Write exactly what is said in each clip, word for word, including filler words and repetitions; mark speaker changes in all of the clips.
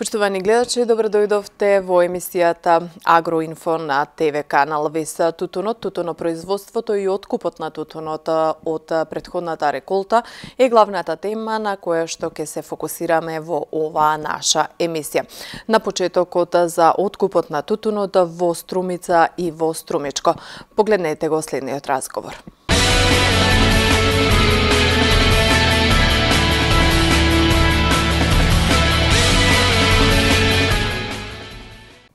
Speaker 1: Поштовани гледачи, добро дојдовте во емисијата Агроинфо на ТВ канал Вес. Тутунот, тутунопроизводството и откупот на тутунот од претходната реколта е главната тема на која што ќе се фокусираме во оваа наша емисија. На почетокот за откупот на тутунот во Струмица и во Струмичко. Погледнете го следниот разговор.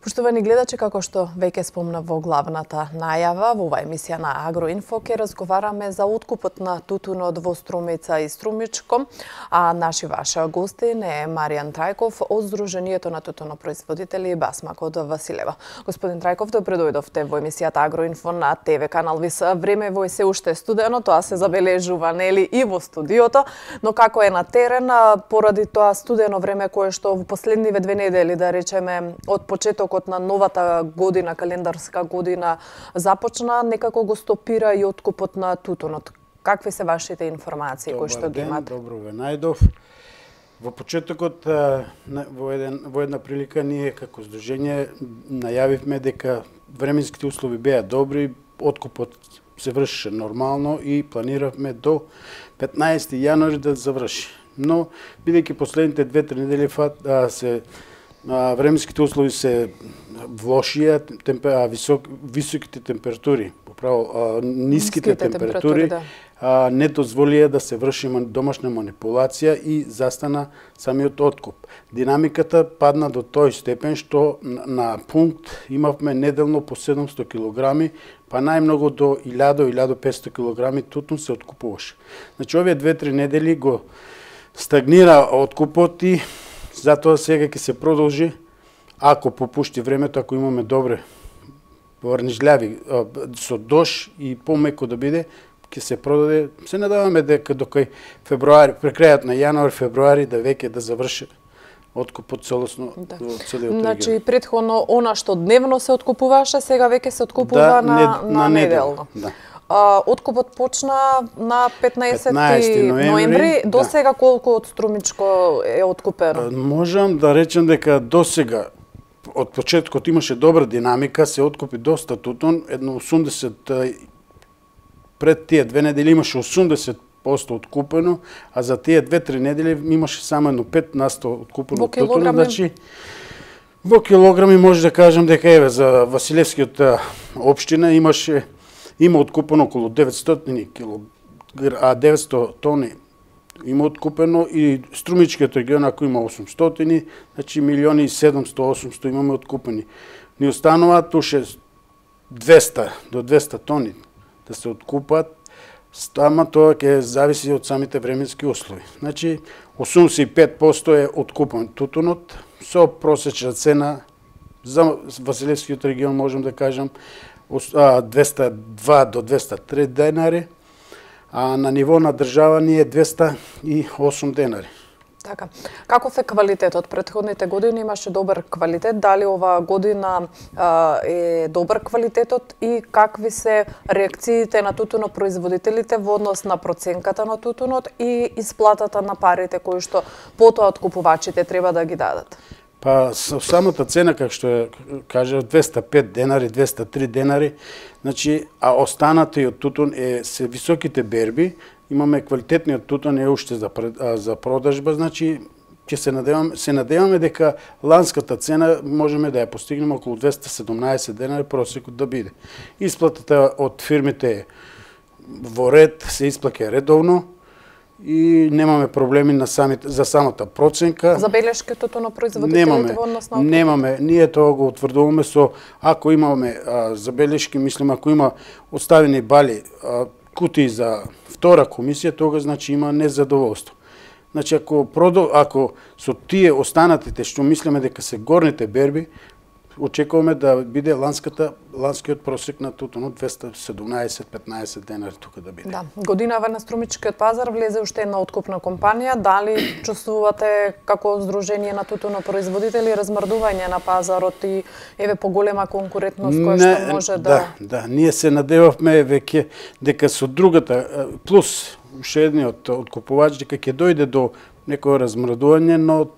Speaker 1: Поштовани гледачи, како што веќе спомнав во главната најава, во оваа емисија на Агроинфо ќе разговараме за откупот на тутунот во Струмица и Струмичко, а наши ваша гостин е Маријан Трајков од Сдруженијето на тутунопроизводители Басмак од Василево. Господин Трајков, добро дојдовте во емисијата Агроинфо на ТВ канал Вес. Времево е се уште студено, тоа се забележува нели и во студиото, но како е на терен поради тоа студено време кое што во последниве две недели, да речеме, од почеток на новата година, календарска година започна, некако го стопира и откупот на тутунот. Какви се вашите информации кои што ги имате?
Speaker 2: Добро ве најдов. Во почетокот во еден во една прилика ние како здружение најавивме дека временските услови беа добри, откупот се вршеше нормално и планиравме до петнаесети јануари да заврши. Но бидејќи последните две-три недели се временските услови се влошија, темпера, висок, високите температури, поправо ниските, ниските температури, да. а, не дозволија да се врши домашна манипулација и застана самиот откуп. Динамиката падна до тој степен што на, на пункт имавме неделно по седумсто килограми, па најмногу до илјада до илјада и петстотини килограми тутун се откупуваше. Значи овие две-три недели го стагнира откупот и затоа сега ќе се продолжи, ако попушти времето, ако имаме добре врнежљави, со дош и помеко да биде, ќе се продаде. Се надаваме дека до кај февруари, при крајот на јануари, февруари, да веќе да заврши откупот целосно
Speaker 1: да.
Speaker 2: во целиот регион.
Speaker 1: Значи, претходно, она што дневно се откупуваше, сега веќе се откупува
Speaker 2: да,
Speaker 1: на,
Speaker 2: не,
Speaker 1: на, на неделно.
Speaker 2: Да.
Speaker 1: Откупот почна на петнаесети ноември. До сега колку од Струмичко е откупено?
Speaker 2: Можам да речем дека до сега од почеткот имаше добра динамика, се откупи доста тутун, едно осумдесет пред тие две недели имаше осумдесет проценти откупено, а за тие две-три недели имаше само едно пет на сто откупено тутун. Значи, во килограми може да кажам дека еве за Василевскиот општина имаше има откупено околу деветстотини кило, а деветсто тони има откупено и Струмичкиот регион ако има осумстотини, значи милиони и седумсто до осумсто имаме откупени. Ни остануваат уште двеста до двеста тони да се откупат, ама тоа ќе зависи од самите временски услови. Значи осумдесет и пет проценти е откупен тутунот со просечна цена за Василевскиот регион можам да кажам двеста и два до двеста и три денари, а на ниво на држава ни е двеста и осум денари.
Speaker 1: Така. Каков е квалитетот? Претходните години имаше добар квалитет. Дали оваа година а, е добар квалитетот и какви се реакциите на тутунопроизводителите во однос на проценката на тутунот и исплатата на парите кои што потоа откупувачите треба да ги дадат?
Speaker 2: Па со самата цена, како што е, кажа, двеста и пет денари, двеста и три денари, значи, а останатиот тутун е се високите берби, имаме квалитетниот тутун е уште за, за продажба, значи, ќе се надеваме, се надеваме дека ланската цена можеме да ја постигнеме околу двеста и седумнаесет денари просекот да биде. Исплатата од фирмите е во ред, се исплаќа редовно, и немаме проблеми на самите, за самата проценка.
Speaker 1: Забелешки тутунопроизводителите во однос на откупот?
Speaker 2: Немаме, ние тоа го утврдуваме со, ако имаме а, забелешки, мислим, ако има оставени бали а, кутии за втора комисија, тога значи има незадоволство. Значи, ако, продо, ако со тие останатите, што мислиме дека се горните берби, очекуваме да биде ланската, ланскиот просек на тутунот двеста и седумнаесет до петнаесет денари тука да биде.
Speaker 1: Да. Годинава на Струмичкиот пазар влезе уште една откупна компанија. Дали чувствувате како Сдружение на тутунопроизводители размрдување на пазарот и еве поголема конкурентност која што може да...
Speaker 2: Да, да, ние се надевавме веќе дека со другата, плюс уште едниот откупувач, дека ќе дојде до некој размрдување, но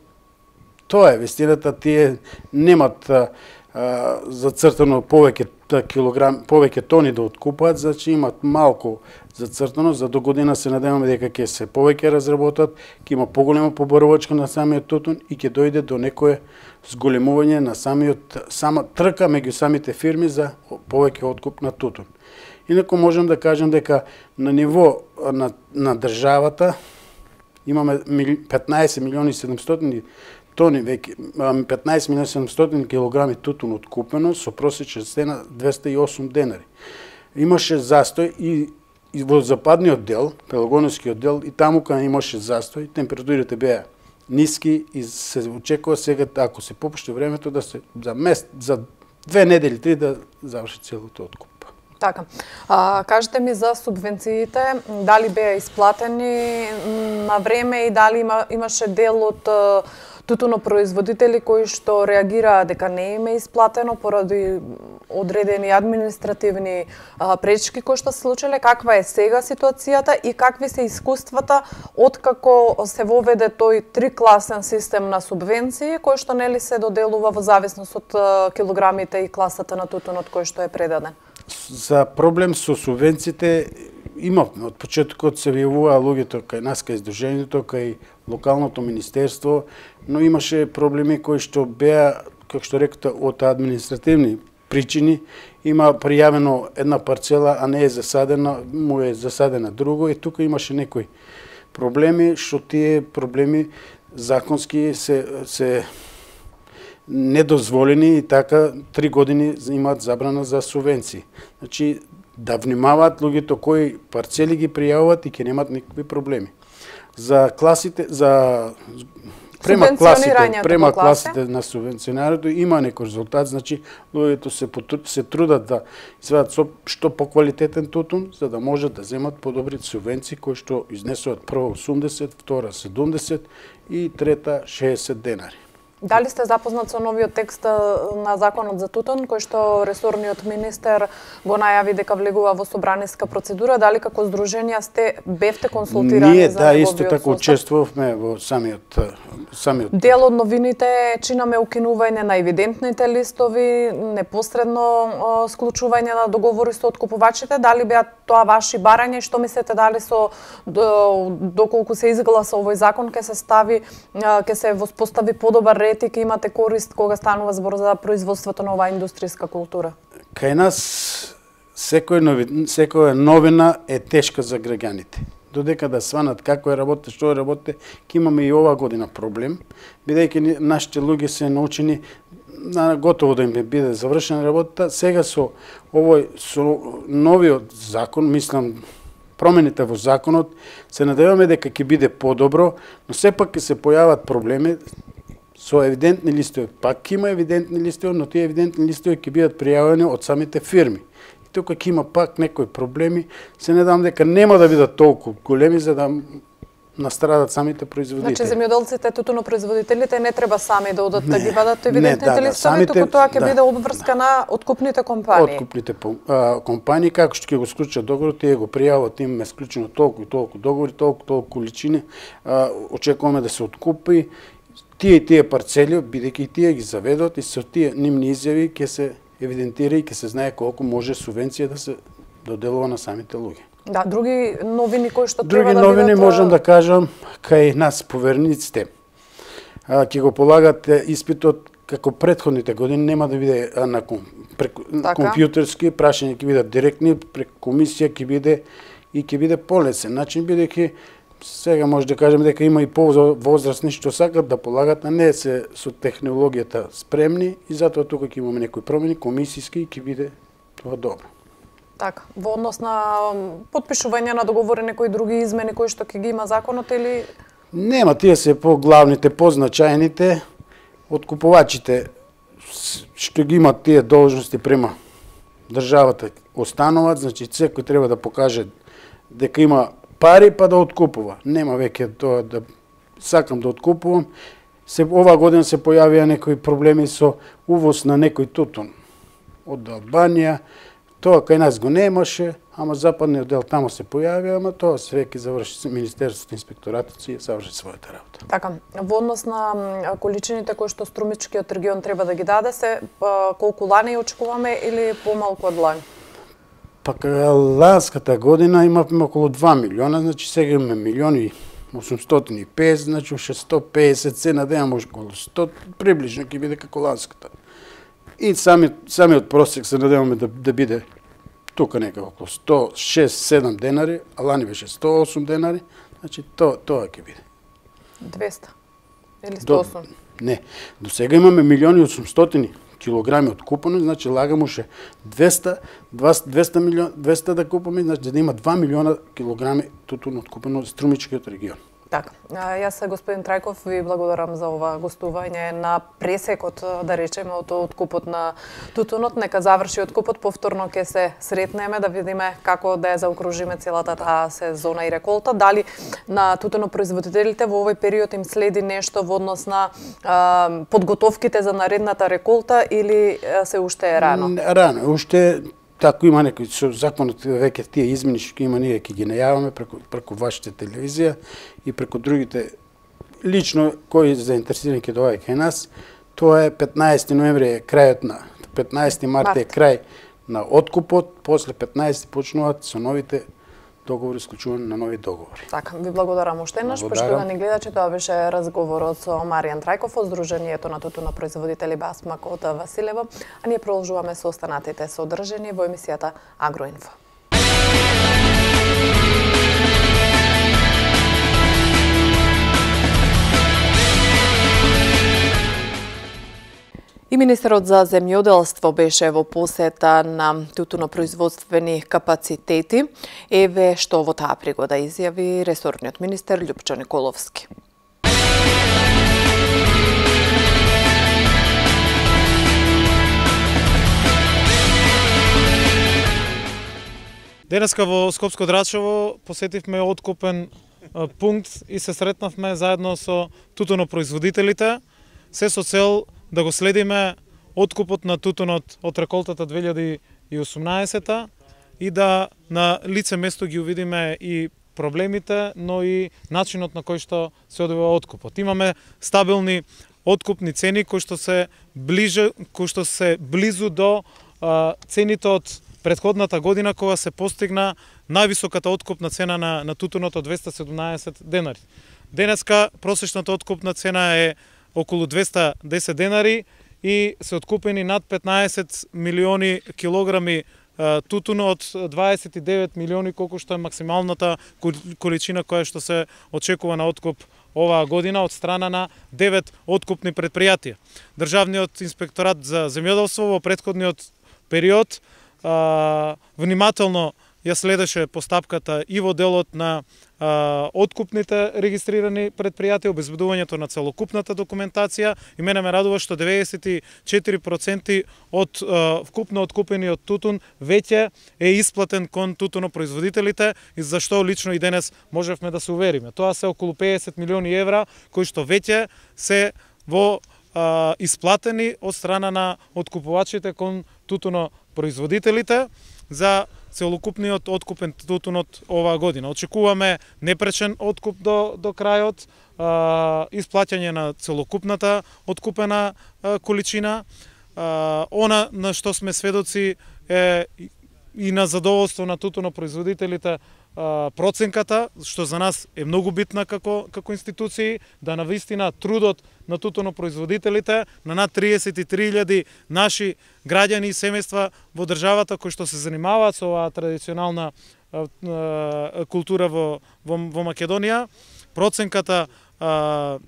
Speaker 2: Тоа е вистината, тие немат а, а, зацртано повеќе килограм, повеќе тони да откупат, значи имат малку зацртано, за до година се надеваме дека ќе се повеќе разработат, ќе има поголема поборувачка на самиот тутун и ќе дојде до некое зголемување на самиот сама трка меѓу самите фирми за повеќе откуп на тутун. Инаку можам да кажам дека на ниво на, на државата имаме петнаесет милиони и седумстотини тони веќе, петнаесет милиони и седумстотини килограми тутун откупено со просечна цена двесте и осум денари. Имаше застој и, и во западниот дел, Пелагонискиот дел, и таму каде имаше застој, температурите беа ниски и се очекува сега, ако се попушти времето, да се за месец, за две недели, три да заврши целото откуп.
Speaker 1: Така. А, кажете ми за субвенциите, дали беа исплатени на време и дали има, имаше дел од тутунопроизводители кои што реагираа дека не им е исплатено поради одредени административни а, пречки кои што се случиле. Каква е сега ситуацијата и какви се искуствата откако се воведе тој трикласен систем на субвенции кој што нели се доделува во зависност од а, килограмите и класата на тутунот кој што е предаден?
Speaker 2: За проблем со субвенциите имавме од почетокот, се јавуваа луѓето кај нас, кај Сдруженијето, кај локалното министерство, но имаше проблеми кои што беа, како што рекоте, од административни причини. Има пријавено една парцела, а не е засадена, му е засадена друго и тука имаше некои проблеми, што тие проблеми законски се се недозволени и така три години имаат забрана за субвенции. Значи, да внимаваат луѓето кои парцели ги пријавуваат и ќе немат никакви проблеми. За класите, за према класите, према класите на субвенционарото има некој резултат, значи луѓето се се трудат да извадат што поквалитетен тутун, за да можат да земат подобри субвенции кои што изнесуваат прва осумдесет, втора седумдесет и трета шеесет денари.
Speaker 1: Дали сте запознат со новиот текст на законот за тутун, кој што ресорниот министер го најави дека влегува во собраниска процедура? Дали како здруженија сте бевте консултирани
Speaker 2: Ние,
Speaker 1: за
Speaker 2: да,
Speaker 1: неговиот
Speaker 2: исто така учествувавме во самиот самиот
Speaker 1: Дел од новините чинаме укинување на евидентните листови, непосредно склучување на договори со откупувачите. Дали беа тоа ваши барања и што мислите дали со доколку се изгласа овој закон ќе се стави ќе се воспостави подобар ред и ќе имате корист кога станува збор за производството на оваа индустријска култура?
Speaker 2: Кај нас секоја новина, секоја новина е тешка за граѓаните. Додека да сванат како е работите, што е работите, ќе имаме и оваа година проблем, бидејќи нашите луѓе се научени на готово да им биде завршена работата. Сега со овој со новиот закон, мислам промените во законот, се надеваме дека ќе биде подобро, но сепак ќе се појават проблеми со евидентни листови. Пак има евидентни листови, но тие евидентни листови ќе бидат пријавени од самите фирми. И тука ќе има пак некои проблеми. Се надам дека нема да бидат толку големи за да настрадат самите производители.
Speaker 1: Значи земјоделците, тутунопроизводителите не треба сами да одат да ги вадат евидентните да, листови, да, туку тоа ќе да. биде обврска на откупните компании.
Speaker 2: Откупните а, компании, како што ќе го склучат договор, тие го пријават, имаме склучено толку и толку договори, толку толку количини, а, очекуваме да се откупи тие и тие парцели, бидејќи тие ги заведат и со тие нивни изјави ќе се евидентира и ќе се знае колку може субвенција да се доделува на самите луѓе.
Speaker 1: Да, други новини кои што
Speaker 2: други
Speaker 1: треба да
Speaker 2: новини
Speaker 1: бидат...
Speaker 2: можам да кажам кај нас поверениците. Ќе го полагат испитот како претходните години, нема да биде на преку, така. компјутерски, прашање ќе бидат директни, преку комисија ќе биде и ќе биде полесен начин, бидејќи сега може да кажеме дека има и повозрастни што сакат да полагат, а не се со технологијата спремни и затоа тука ќе имаме некои промени комисиски и ќе биде тоа добро.
Speaker 1: Така, во однос на потпишување на договори, некои други измени кои што ќе ги има законот или
Speaker 2: нема, тие се по главните, позначајните, откупувачите што ги имат тие должности према државата остануваат, значи секој треба да покаже дека има пари па да откупува. Нема веќе тоа да сакам да откупувам. Се оваа година се појавија некои проблеми со увоз на некој тутун од Албанија. Тоа кај нас го немаше, ама западниот дел тамо се појави, ама тоа све ќе заврши Министерството, инспекторатот си заврши својата работа.
Speaker 1: Така, во однос на количините кои што Струмичкиот регион треба да ги даде се колку лани очекуваме или помалку од лани?
Speaker 2: Пак ланската година имавме околу два милиона, значи сега имаме милиони осумстотини и песет, значи уште сто и песет се надевам може околу сто, приближно ќе биде како ланската. И сами, самиот просек се надеваме да, да биде тука некако околу сто и шест седам денари, а лани беше сто и осум денари, значи тоа тоа ќе биде.
Speaker 1: двеста или сто и осум?
Speaker 2: До, не, до сега имаме милиони осумстотини килограми откупено, значи лагаме уште двеста, двеста милиона, двеста да купаме, значи да има два милиона килограми тутун откупено од Струмичкиот регион.
Speaker 1: Така, јас господин Трајков ви благодарам за ова гостување на пресекот, да речеме, од откупот на тутунот. Нека заврши откупот, повторно ќе се сретнеме да видиме како да ја заокружиме целата таа сезона и реколта. Дали на тутунопроизводителите во овој период им следи нешто во однос на а, подготовките за наредната реколта или се уште е рано?
Speaker 2: Рано, уште тако има некои со законот веќе тие измени што има ние ќе ги најаваме преку преку вашите телевизија и преку другите лично кои заинтересирани ќе доаѓаат кај нас. Тоа е петнаесети ноември е крајот на петнаесети март е крај на откупот, после петнаесети почнуваат со новите договори, исклучување на нови договори.
Speaker 1: Така, ви благодарам уште еднаш, поштовани да гледачи, тоа беше разговорот со Маријан Трајков од Сдруженијето на тутунопроизводители Басмак од Василево, а ние продолжуваме со останатите содржини во емисијата Агроинфо. И министерот за земјоделство беше во посета на тутунопроизводствени капацитети. Еве што во таа пригода изјави ресорниот министер Љупчо Николовски.
Speaker 3: Денеска во Скопско Драчево посетивме откупен пункт и се сретнавме заедно со тутунопроизводителите, се со цел да го следиме откупот на тутунот од реколтата две илјади и осумнаесета и да на лице место ги увидиме и проблемите, но и начинот на кој што се одвива откупот. Имаме стабилни откупни цени кои што се ближе, кои што се близу до а, цените од претходната година кога се постигна највисоката откупна цена на, на тутунот од двеста седумнаесет денари. Денеска просечната откупна цена е околу двеста и десет денари и се откупени над петнаесет милиони килограми тутун од дваесет и девет милиони, колку што е максималната количина која што се очекува на откуп оваа година од страна на девет откупни предпријатија. Државниот инспекторат за земјоделство во претходниот период а, внимателно ја следеше постапката и во делот на а, откупните регистрирани предпријатија, обезбедувањето на целокупната документација, и мене ме радува што деветдесет и четири проценти од а, вкупно откупениот тутун веќе е исплатен кон тутунопроизводителите, и за што лично и денес можевме да се увериме. Тоа се околу педесет милиони евра кои што веќе се во а, исплатени од страна на откупувачите кон тутунопроизводителите за целокупниот откупен тутун од оваа година. Очекуваме непречен откуп до, до крајот, а, исплаќање на целокупната откупена а, количина. А, она на што сме сведоци е и на задоволство на тутунопроизводителите а, проценката, што за нас е многу битна како, како институции, да навистина трудот на тутунопроизводителите, на над триесет и три илјади наши граѓани и семејства во државата кои што се занимаваат со оваа традиционална а, а, култура во, во, во Македонија. Проценката а,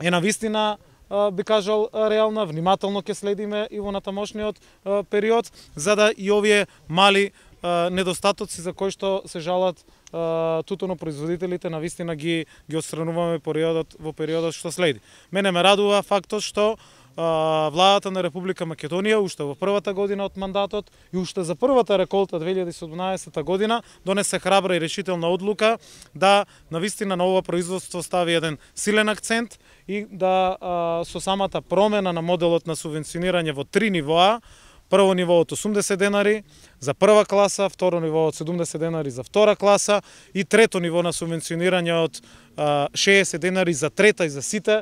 Speaker 3: е навистина, а, би кажал, реална, внимателно ќе следиме и во натамошниот а, период, за да и овие мали а, недостатоци за кои што се жалат тутунопроизводителите навистина ги ги отстрануваме периодот во периодот што следи. Мене ме радува фактот што а, владата на Република Македонија уште во првата година од мандатот и уште за првата реколта две илјади и седумнаесета година донесе храбра и решителна одлука да навистина на ова производство стави еден силен акцент и да а, со самата промена на моделот на субвенционирање во три нивоа прво ниво од осумдесет денари за прва класа, второ ниво од седумдесет денари за втора класа и трето ниво на субвенционирање од шеесет денари за трета и за сите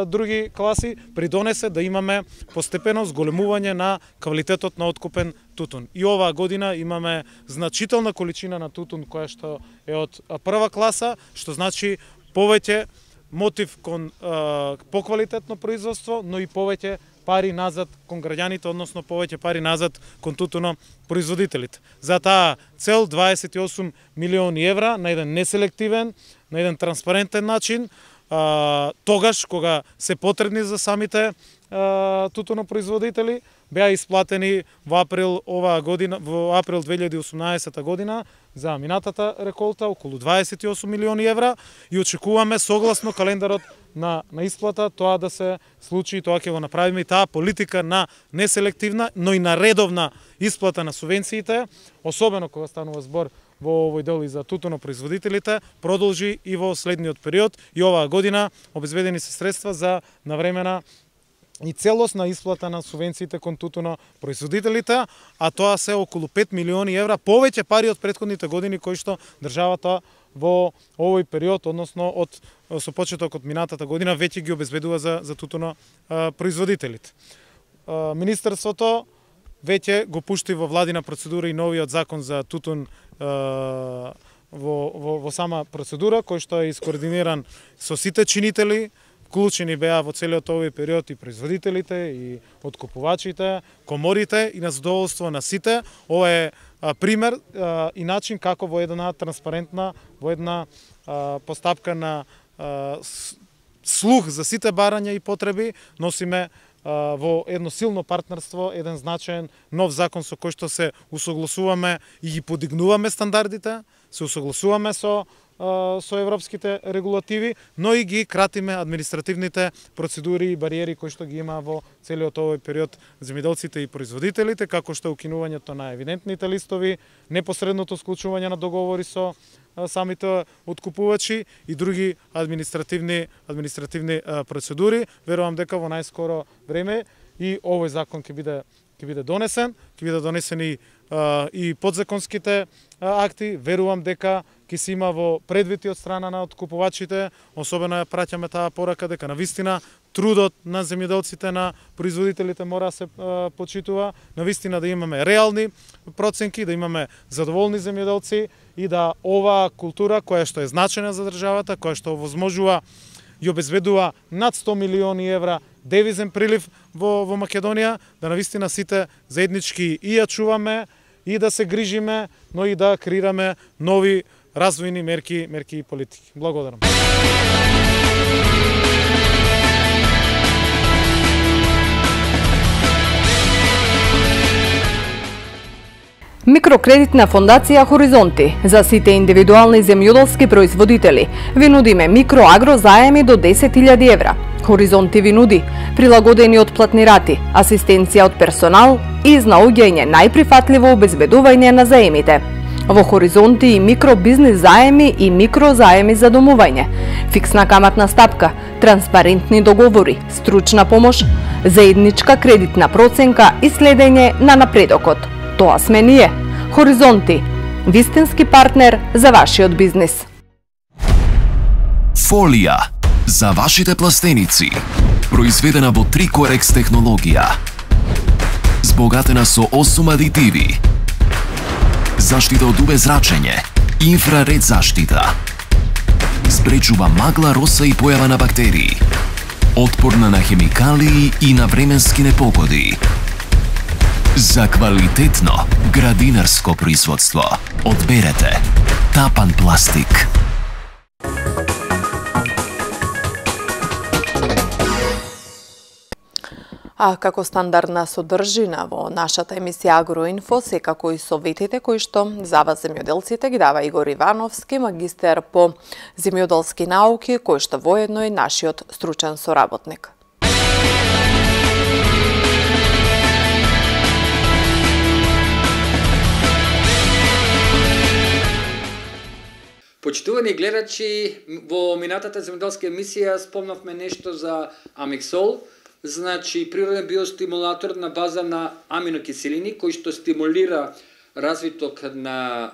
Speaker 3: други класи, придонесе да имаме постепено зголемување на квалитетот на откупен тутун. И оваа година имаме значителна количина на тутун која што е од прва класа, што значи повеќе мотив кон а, поквалитетно производство, но и повеќе пари назад кон граѓаните, односно повеќе пари назад кон тутуно производителите. За таа цел дваесет и осум милиони евра на еден неселективен, на еден транспарентен начин, а, тогаш кога се потребни за самите а, тутуно производители, беа исплатени во април оваа година, во април две илјади и осумнаесета година за минатата реколта околу дваесет и осум милиони евра и очекуваме согласно календарот на на исплата тоа да се случи и тоа ќе го направиме и таа политика на неселективна, но и на редовна исплата на субвенциите, особено кога станува збор во овој дел и за тутуно производителите, продолжи и во следниот период и оваа година обезбедени се средства за навремена и целосна исплата на субвенциите кон тутуно производителите, а тоа се околу пет милиони евра, повеќе пари од претходните години кои што државата во овој период, односно од со почеток од минатата година веќе ги обезбедува за за тутуно а, производителите. А, Министерството веќе го пушти во владина процедура и новиот закон за тутун а, во, во, во сама процедура, кој што е искоординиран со сите чинители. Вклучени беа во целиот овој период и производителите, и откупувачите, коморите и на задоволство на сите. Ова е а, пример а, и начин како во една транспарентна, во една а, постапка на а, слух за сите барања и потреби, носиме а, во едно силно партнерство, еден значаен нов закон со кој што се усогласуваме и ги подигнуваме стандардите, се усогласуваме со со европските регулативи, но и ги кратиме административните процедури и бариери кои што ги има во целиот овој период земјоделците и производителите, како што укинувањето на евидентните листови, непосредното склучување на договори со самите откупувачи и други административни административни процедури. Верувам дека во најскоро време и овој закон ќе биде ќе биде донесен, ќе биде донесени а, и подзаконските а, акти. Верувам дека ќе се има во предвид од страна на откупувачите, особено ја праќаме таа порака дека навистина трудот на земјоделците, на производителите мора да се а, почитува, навистина да имаме реални проценки, да имаме задоволни земјоделци и да оваа култура која што е значајна за државата, која што овозможува и обезбедува над сто милиони евра девизен прилив во, во Македонија, да навистина сите заеднички и ја чуваме, и да се грижиме, но и да креираме нови развојни мерки, мерки и политики. Благодарам.
Speaker 4: Микрокредитна фондација Хоризонти за сите индивидуални земјоделски производители ви нудиме микроагро заеми до десет илјади евра. Хоризонти ви нуди прилагодени отплатни рати, асистенција од персонал и изнаоѓање најприфатливо обезбедување на заемите. Во Хоризонти и микробизнис заеми и микрозаеми за домување, фиксна каматна стапка, транспарентни договори, стручна помош, заедничка кредитна проценка и следење на напредокот. Тоа сме ние. Хоризонти, вистински партнер за вашиот бизнис.
Speaker 5: Фолија за вашите пластеници, произведена во Трикорекс технологија, збогатена со осум адитиви, заштита од убезрачење, инфраред заштита, спречува магла, роса и појава на бактерии, отпорна на хемикалии и на временски непогоди. За квалитетно градинарско производство одберете Тапан пластик.
Speaker 1: А како стандардна содржина во нашата емисија Агроинфо, секако и советите кои што за вас земјоделците ги дава Игор Ивановски, магистер по земјоделски науки, кој што воедно е нашиот стручен соработник.
Speaker 6: Почитувани гледачи, во минатата земјоделска емисија спомнавме нешто за Амексол, значи природен биостимулатор на база на аминокиселини кој што стимулира развиток на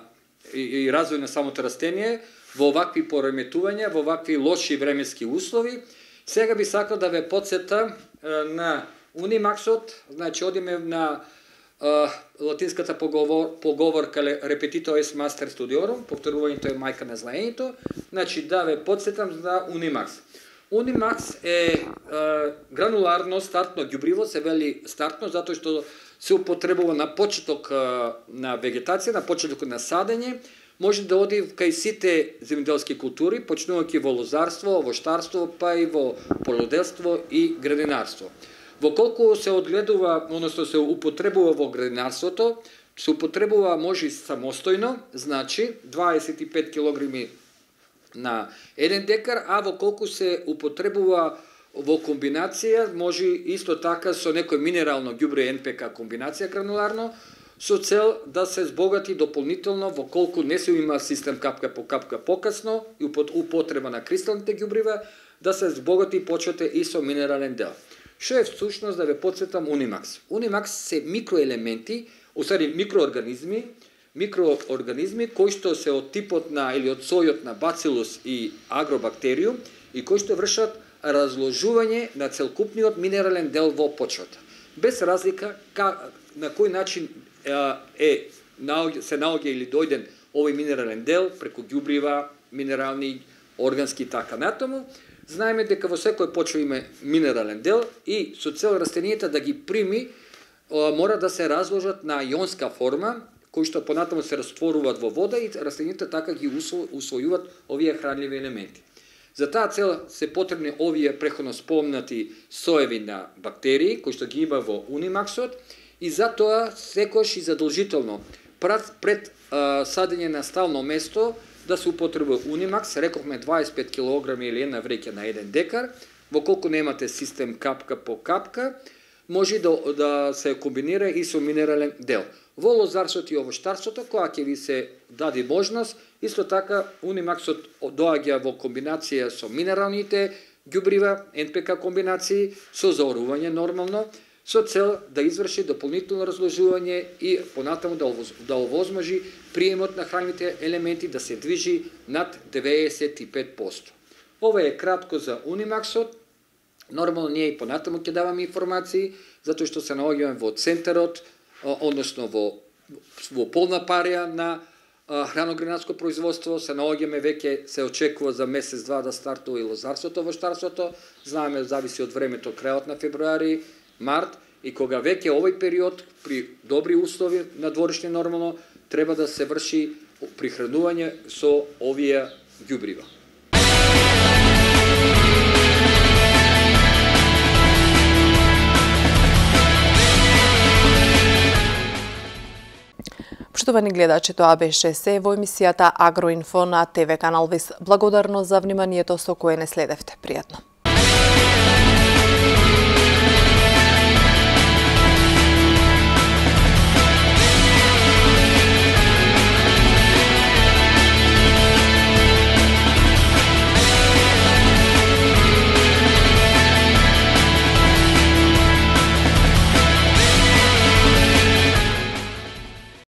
Speaker 6: и, и развој на самото растение во овакви пореметувања, во овакви лоши временски услови. Сега би сакал да ве подсета на Унимаксот, значи одиме на uh, латинската поговор, поговорка repetito est master studiorum, повторувањето е мајка на знаењето, значи да ве подсетам за Унимакс. Унимакс е uh, грануларно стартно ѓубриво, се вели стартно затоа што се употребува на почеток uh, на вегетација, на почеток на садење, може да оди кај сите земјоделски култури, почнувајќи во лозарство, овоштарство, па и во полуделство и градинарство. Во колку се одгледува, односно се употребува во градинарството, се употребува може самостојно, значи дваесет и пет килограми на еден декар, а во колку се употребува во комбинација, може исто така со некој минерално ѓубре Ен Пе Ка комбинација грануларно, со цел да се збогати дополнително во колку не се има систем капка по капка покасно и употреба на кристалните ѓубрива, да се збогати почвата и со минерален дел. Што е всушност да ве подсетам Унимакс? Унимакс се микроелементи, усади микроорганизми, микроорганизми кои што се од типот на или од сојот на бацилус и агробактериум и кои што вршат разложување на целокупниот минерален дел во почвата. Без разлика ка, на кој начин е се наоѓа или дојден овој минерален дел преку ѓубрива, минерални, органски така натаму. Знаеме дека во секој почва има минерален дел и со цел растенијата да ги прими мора да се разложат на јонска форма, кои што понатаму се растворуваат во вода и растенијата така ги усвојуваат овие хранливи елементи. За таа цел се потребни овие преходно спомнати соеви на бактерии кои што ги има во Унимаксот и затоа секојаш и задолжително пред, пред а, садење на стално место да се употребува Унимакс, рековме дваесет и пет килограми или една вреќа на еден декар, во колку немате систем капка по капка, може да, да се комбинира и со минерален дел. Во лозарството и овоштарството, која ќе ви се даде можност, исто така Унимаксот доаѓа во комбинација со минералните ѓубрива, Ен Пе Ка комбинации, со заорување нормално, со цел да изврши дополнително разложување и понатаму да, да овозможи приемот на хранливите елементи да се движи над деветдесет и пет проценти. Ова е кратко за Унимаксот. Нормално ние и понатаму ќе даваме информации, затоа што се наоѓаме во центарот, односно во, во полна парија на храногранарско производство, се наоѓаме веќе се очекува за месец-два да стартува и лозарството, овоштарството. Знаеме, зависи од времето, крајот на февруари, март, и кога веќе овој период при добри услови на дворишни нормално треба да се врши прихранување со овие ѓубрива.
Speaker 1: Поштовани гледачи, тоа беше се во емисијата Агроинфо на Те Ве канал Вис. Благодарно за вниманието со кое не следевте. Пријатно.